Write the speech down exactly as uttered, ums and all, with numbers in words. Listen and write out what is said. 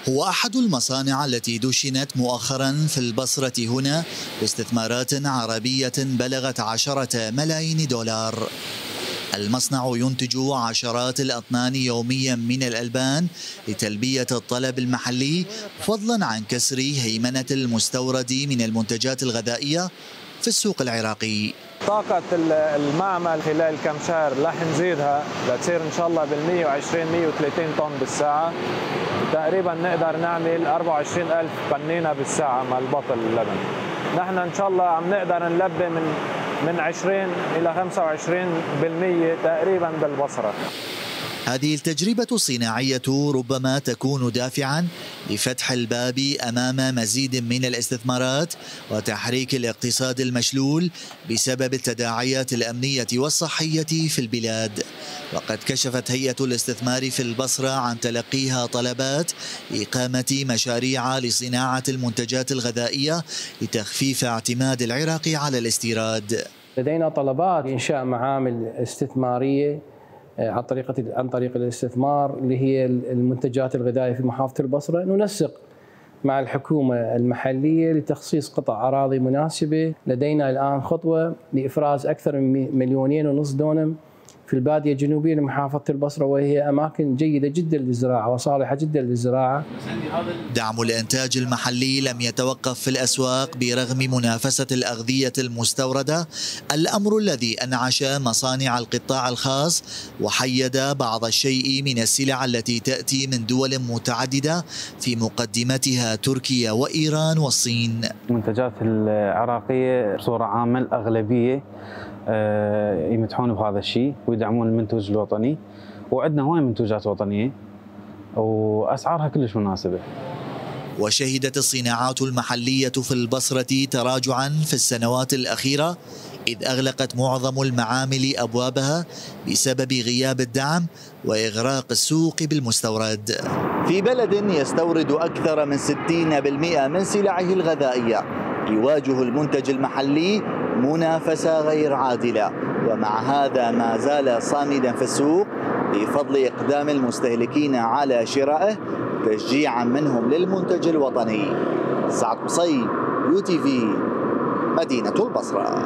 هو أحد المصانع التي دشنت مؤخرا في البصرة هنا باستثمارات عربية بلغت عشرة ملايين دولار. المصنع ينتج عشرات الأطنان يوميا من الألبان لتلبية الطلب المحلي، فضلا عن كسر هيمنة المستورد من المنتجات الغذائية في السوق العراقي. طاقة المعمل خلال كم شهر رح نزيدها لتصير إن شاء الله بال مئة وعشرين مئة وثلاثين طن بالساعة، تقريبا نقدر نعمل أربعة وعشرين ألف قنينة بالساعة مع البطل اللبن. نحن إن شاء الله عم نقدر نلبي من من عشرين إلى خمسة وعشرين بالمئة تقريبا بالبصرة. هذه التجربة الصناعية ربما تكون دافعا لفتح الباب أمام مزيد من الاستثمارات وتحريك الاقتصاد المشلول بسبب التداعيات الأمنية والصحية في البلاد. وقد كشفت هيئة الاستثمار في البصرة عن تلقيها طلبات إقامة مشاريع لصناعة المنتجات الغذائية لتخفيف اعتماد العراق على الاستيراد. لدينا طلبات لإنشاء معامل استثمارية عن طريقة عن طريق الاستثمار اللي هي المنتجات الغذائية في محافظة البصرة. ننسق مع الحكومة المحلية لتخصيص قطع أراضي مناسبة. لدينا الآن خطوة لإفراز أكثر من مليونين ونصف دونم في البادية الجنوبية لمحافظة البصرة، وهي أماكن جيدة جدا للزراعة وصالحة جدا للزراعة. دعم الإنتاج المحلي لم يتوقف في الأسواق برغم منافسة الأغذية المستوردة، الأمر الذي أنعش مصانع القطاع الخاص وحيد بعض الشيء من السلع التي تأتي من دول متعددة في مقدمتها تركيا وإيران والصين. المنتجات العراقية بصورة عامة الأغلبية يمدحون بهذا الشيء ويدعمون المنتوج الوطني، وعندنا هواي منتوجات وطنية وأسعارها كلش مناسبة. وشهدت الصناعات المحلية في البصرة تراجعا في السنوات الأخيرة، إذ أغلقت معظم المعامل أبوابها بسبب غياب الدعم وإغراق السوق بالمستورد. في بلد يستورد أكثر من ستين بالمئة من سلعه الغذائية، يواجه المنتج المحلي منافسة غير عادلة، ومع هذا ما زال صامدا في السوق بفضل إقدام المستهلكين على شرائه تشجيعا منهم للمنتج الوطني. سعد قصي، يو تي في، مدينة البصرة.